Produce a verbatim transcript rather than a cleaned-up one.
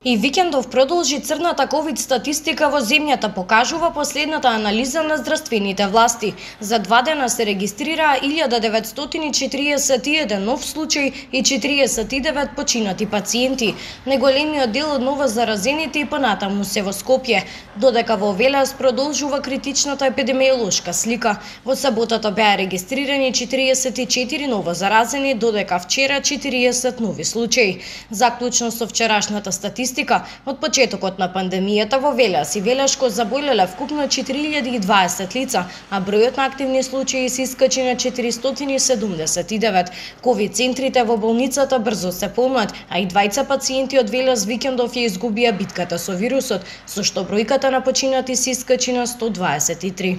И викендов продолжи црната ковид статистика во земјата, покажува последната анализа на здравствените власти. За два дена се регистрираа илјада деветстотини четириесет и еден нов случај и четириесет и девет починати пациенти. Најголемиот дел од ново заразените и понатаму се во Скопје, додека во Велес продолжува критичната епидемиолошка слика. Во саботата беа регистрирани четириесет и четири ново заразени, додека вчера четириесет нови случаи. Заклучно со вчерашната статистика, од почетокот на пандемијата во Велес и Велешко заболеле вкупно четири илјади и дваесет лица, а бројот на активни случаи се искачи на четиристотини седумдесет и девет. Ковид центрите во болницата брзо се полнат, а и двајца пациенти од Велес викендов ја изгубија битката со вирусот, со што бројката на починати се искачи на сто дваесет и три.